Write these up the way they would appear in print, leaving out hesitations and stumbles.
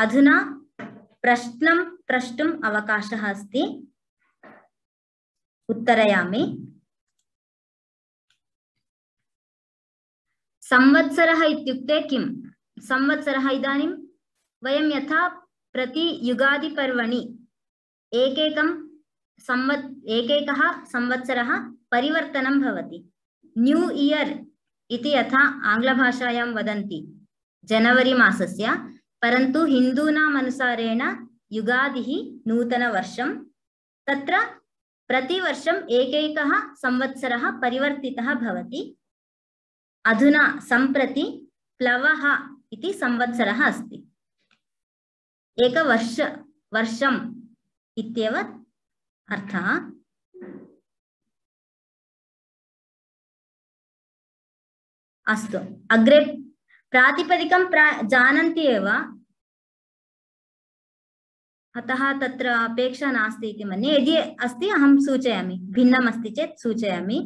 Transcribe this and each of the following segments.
अधुना प्रश्नं प्रष्टुम् अवकाशः अस्ति। उत्तरयामि। संवत्सरः इत्युक्ते किम्? संवत्सरः इदानीं वयं यथा प्रति युगादि पर्वणि एकैकः संवत्सरः परिवर्तनं भवति। न्यू इयर् इति यथा आङ्ग्लभाषायां वदन्ति जनवरी मासस्य, परन्तु हिन्दूनाम् अनुसारेण युगादिः नूतनवर्षं। तत्र प्रतिवर्षम् एकैकः संवत्सरः परिवर्तितः भवति। अधुना सम्प्रति प्लवः इति संवत्सरः अस्ति। वर्षम् इत्येव अर्थः। अस्तु, अग्रे प्रातिपदिकं जानन्ति एव, अतः तत्र अपेक्षा नास्ति इति मन्ये। यदि अस्ति अहं सूचयामि, भिन्नम् अस्ति चेत् सूचयामि।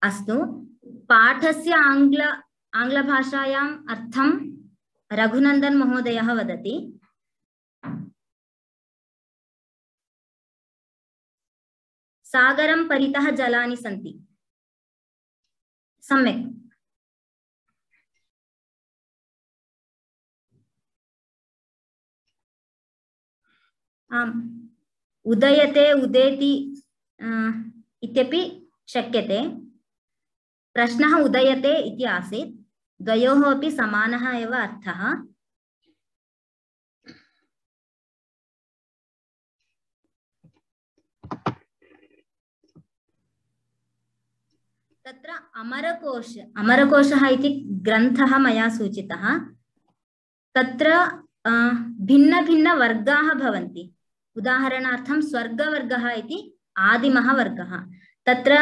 अस्तु, पाठस्य आङ्ग्लभाषायाम् अर्थं रघुनन्दन महोदयः वदति। सागरं परितः जलानि सन्ति। सम्यक्। आम्, उदयते उदेति इत्यपि शक्यते। प्रश्नः उदयते इति आसीत्। द्वयोः अपि समानः एव अर्थः। तत्र अमरकोशः इति ग्रन्थः मया सूचितः। तत्र भिन्न भिन्न वर्गाः भवन्ति। उदाहरणार्थं स्वर्गवर्गः इति आदिमः वर्गः। तत्र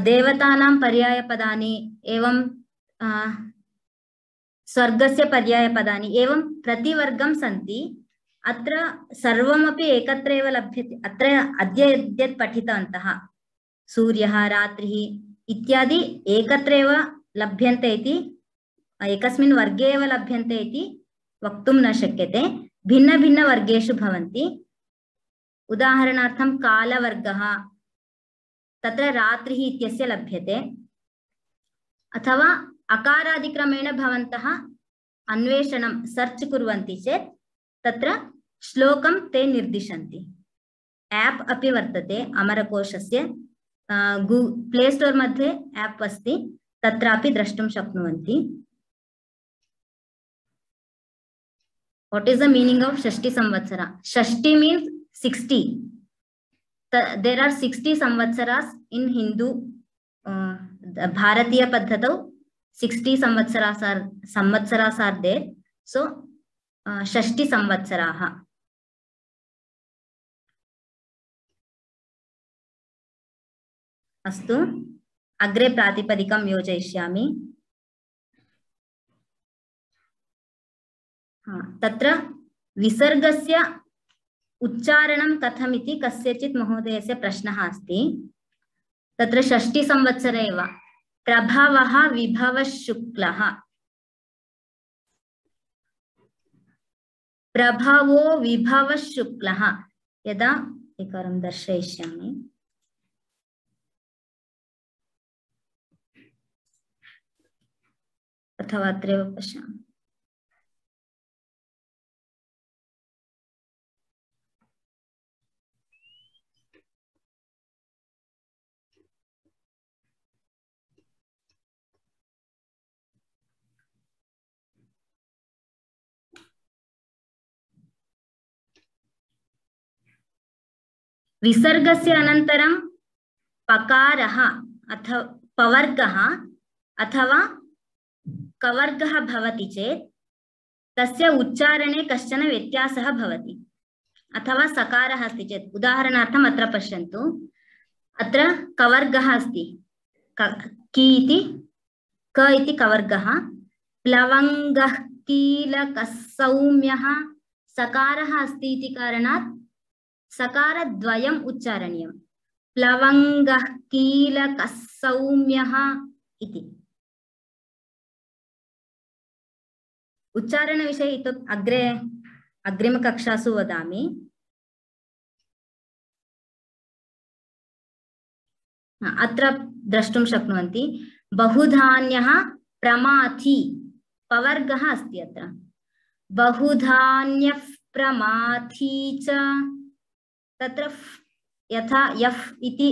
देवतानां पर्यायपदानि एवं स्वर्गस्य पर्यायपदानि एवं प्रतिवर्गं सन्ति। अत्र सर्वमपि एकत्र एव लभ्यते। अत्र अद्य यद्यत् पठितवन्तः सूर्यः, रात्रिः इत्यादि एकत्र एव लभ्यन्ते इति, एकस्मिन् वर्गे एव लभ्यन्ते इति वक्तुं न शक्यते। भिन्न भिन्न वर्गेषु भवन्ति। उदाहरणार्थं कालवर्गः, तत्र रात्रिः इत्यस्य लभ्यते। अथवा अकारादिक्रमेण भवन्तः अन्वेषणं सर्च कुर्वन्ति चेत् तत्र श्लोकं ते निर्दिशन्ति। ऐप् अपि वर्तते अमरकोशस्य। प्ले स्टोर् मध्ये ऐप् अस्ति, तत्रापि द्रष्टुं शक्नुवन्ति। What is the meaning of Shashti Samvatsara? Shashti means 60. There are 60 Samvatsaras in Hindu. Bharatiya Paddhatau 60 Samvatsaras are there. So Shashti Samvatsaraha. अस्तु, अग्रे प्रातिपदिकं योजयिष्यामि। तत्र विसर्गस्य उच्चारणं कथमिति कस्यचित् महोदयस्य प्रश्नः अस्ति। तत्र षष्ठी संवत्सरे एव प्रभवः विभवः शुक्लः, प्रभवो विभवः शुक्लः। यदा एकवारं दर्शयिष्यामि। अथवा अत्रैव पश्यामि। विसर्गस्य अनन्तरं पकारः अथवा पवर्गः अथवा कवर्गः भवति चेत् तस्य उच्चारणे कश्चन व्यत्यासः भवति। अथवा सकारः अस्ति चेत्, उदाहरणार्थम् अत्र पश्यन्तु। अत्र कवर्गः अस्ति, की इति, क इति कवर्गः। प्लवङ्गः, कीलकः, सौम्यः सकारः अस्ति इति कारणात् सकारद्वयम् उच्चारणीयम्। प्लवङ्गः कीलकः सौम्यः इति। उच्चारणविषये अग्रे अग्रिमकक्षासु वदामि। अत्र द्रष्टुं शक्नुवन्ति बहुधान्यः प्रमाथि पवर्गः अस्ति अत्र। बहुधान्यः प्रमाथि च तत्र यथा यफ् इति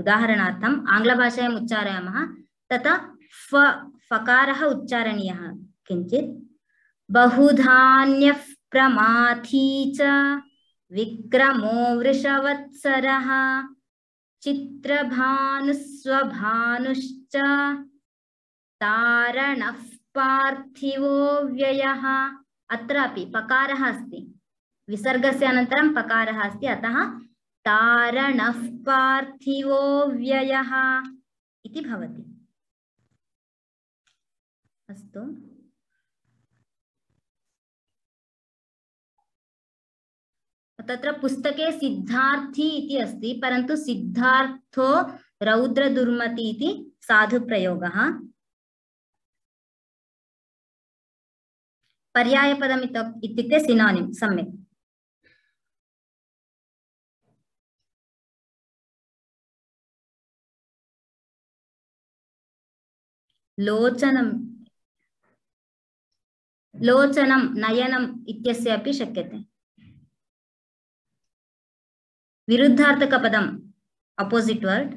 उदाहरणार्थम् आङ्ग्लभाषायाम् उच्चारयामः तथा फकारः उच्चारणीयः किञ्चित्। बहुधान्यः प्रमाथि च विक्रमो वृषवत्सरः चित्रभानुस्वभानुश्च तारणः पार्थिवो व्ययः। अत्रापि पकारः अस्ति, विसर्गस्य अनन्तरं पकारः अस्ति, अतः तारणः पार्थिवो व्ययः इति भवति। अस्तु, तत्र पुस्तके सिद्धार्थी इति अस्ति, परन्तु सिद्धार्थो रौद्रदुर्मति इति साधुप्रयोगः। पर्यायपदम् इत्युक्ते सिनोनिम्। सम्यक्। लोचनं लोचनं नयनम् इत्यस्य अपि शक्यते। विरुद्धार्थकपदम् अपोजिट् वर्ड्।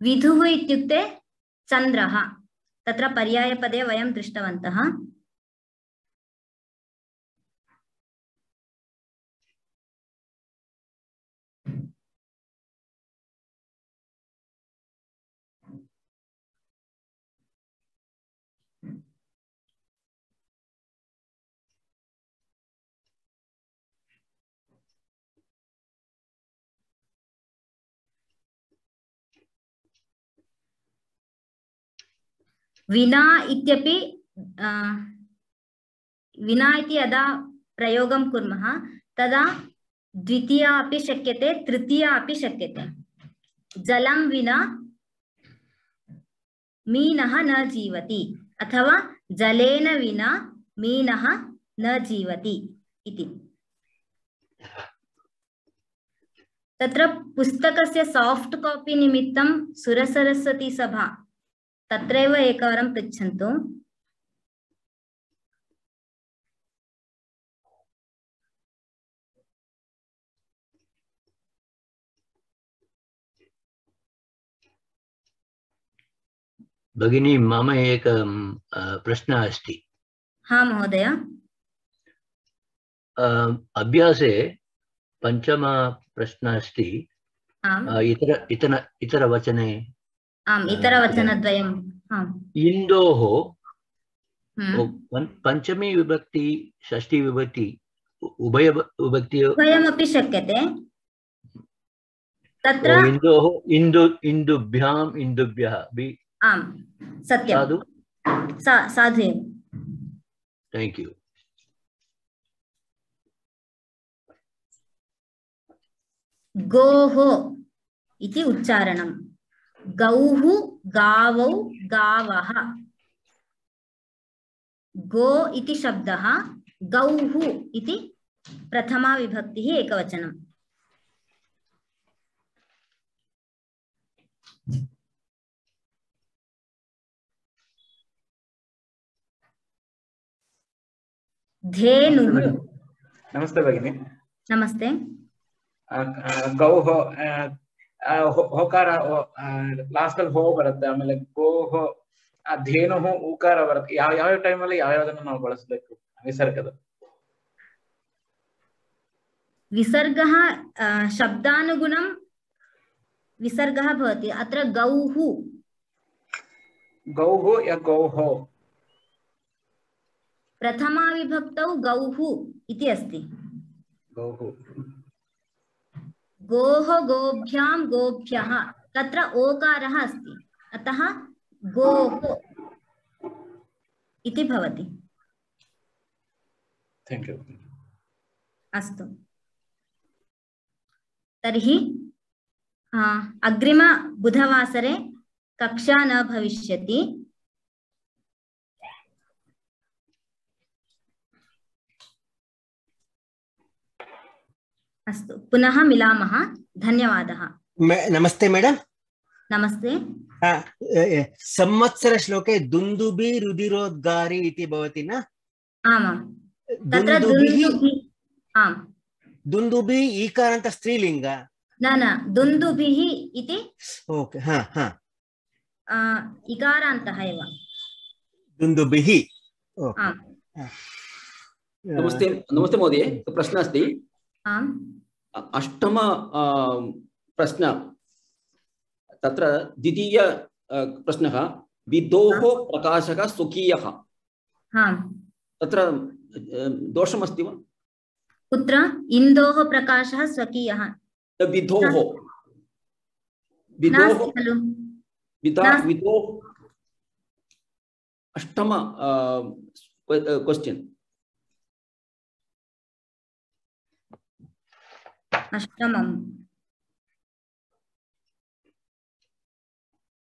विधुः इत्युक्ते चन्द्रः, तत्र पर्यायपदे वयं दृष्टवन्तः। विना इत्यपि विना इति यदा प्रयोगं कुर्मः तदा द्वितीया अपि शक्यते, तृतीया अपि शक्यते। जलं विना मीनः न जीवति अथवा जलेन विना मीनः न जीवति इति। तत्र पुस्तकस्य सॉफ्ट कॉपी निमित्तं सुरसरस्वती सभा तत्रैव एकवारं पृच्छन्तु। भगिनी, मम एक प्रश्नः अस्ति। हाँ महोदय। अभ्यासे पंचम प्रश्नः अस्ति। इतरवचने आम्, इतरवचनद्वयम्। इन्दोः पंचमी विभक्ति षष्ठी विभक्ति उभय विभक्ति उभयमपि शक्यते। तत्र इन्दोः इन्दुभ्याम् इन्दुभ्यः। आम्, सत्यं। साधु एव। Thank you. गोः इति उच्चारणं। गौः गावौ गावः। गो इति शब्दः, गौः इति प्रथमा विभक्तिः एकवचनम्। धेनुः। नमस्ते भगिनी। नमस्ते। गौः होकार लास्ट हो बರುತ್ತೆ, ಆಮೇಲೆ ಗೋಹ ಧೇನುಃ ಉಕಾರ ಬರುತ್ತೆ। ಯಾವ ಟೈಮ್ ಅಲ್ಲಿ ಯಾವ್ಯಾವದನ್ನು ನಾವು ಬಳಸಬೇಕು ವಿಸರ್ಗದ? विसर्गः शब्दानुगुणं विसर्गः भवति। अत्र गौः या गौः प्रथमा विभक्तौ गौः इति अस्ति। गौः। गोः गोभ्यां गोभ्यः तत्र ओकारः अस्ति, अतः गोः इति भवति। Thank you. अस्तु तर्हि अग्रिम बुधवासरे कक्षा न भविष्यति। अस्तु पुनः मिलामः। धन्यवादः। नमस्ते मैडम। नमस्ते। संवत्सर श्लोके दुन्दुभि रुधिरोद्गारी इति भवति न? आमां तत्र आम् दुन्दुभि ईकारान्त स्त्रीलिङ्ग न दुन्दुभिः इति ओके हा हा इकारान्तः एव दुन्दुभिः। आम् नमस्ते नमस्ते महोदय प्रश्नः अस्ति। आम् अष्टम प्रश्न तत्र द्वितीय प्रश्नः विदोः प्रकाशः स्वकीयः तत्र दोषमस्ति वा? कुत्र? इन्दोः प्रकाशः स्वकीयः विदोः नास्ति खलु? विदोः अष्टम क्वेश्चन अष्टमं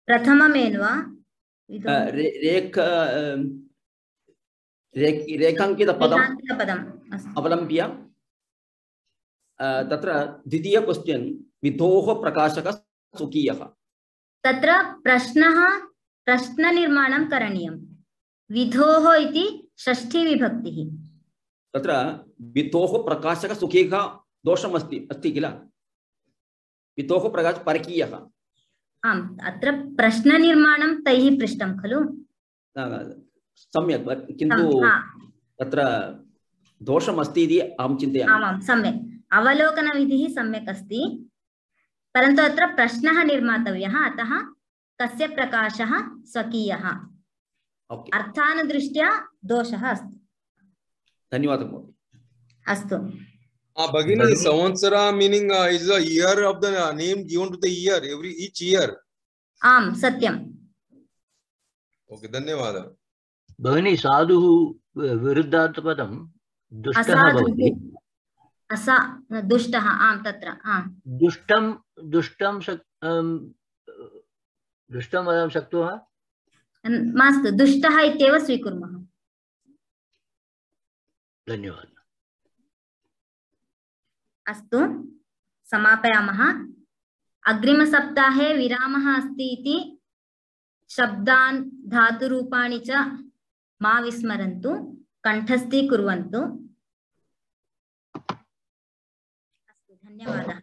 प्रथममेन्वा रेखाङ्कितपदम् अवलम्ब्य तत्र द्वितीय क्वेश्चन विदोः प्रकाशः स्वकीयः तत्र प्रश्ननिर्माणं करणीयं। विधोः इति षष्ठी विभक्तिः। तत्र विदोः प्रकाशः स्वकीयः दोषमस्ति अस्ति किल? विदोः प्रकाशः परकीयः। आम् अत्र प्रश्ननिर्माणं तैः पृष्टं खलु? सम्यक् किन्तु तत्र दोषमस्ति इति अहं चिन्तयामि। आमां सम्यक् अवलोकनविधिः सम्यक् अस्ति परन्तु अत्र प्रश्नः निर्मातव्यः। अतः कस्य प्रकाशः स्वकीयः अर्थानुदृष्ट्या दोषः अस्ति। धन्यवादः महोदय। अस्तु Bhagini, Samvatsara meaning is the year of the name given to the year, each year. आम सत्यम। Okay, धन्यवादः। भगिनी साधुः विरुद्धार्थपदं दुष्टः भवति। दुष्टः आम तत्र दुष्टं वयं शक्नुमः? मास्तु दुष्टः इत्येव स्वीकुर्मः। धन्यवादः। अस्तु समापयामः। अग्रिमसप्ताहे विरामः अस्ति इति शब्दान् धातुरूपाणि च मा विस्मरन्तु, कण्ठस्थीकुर्वन्तु। अस्तु धन्यवादः।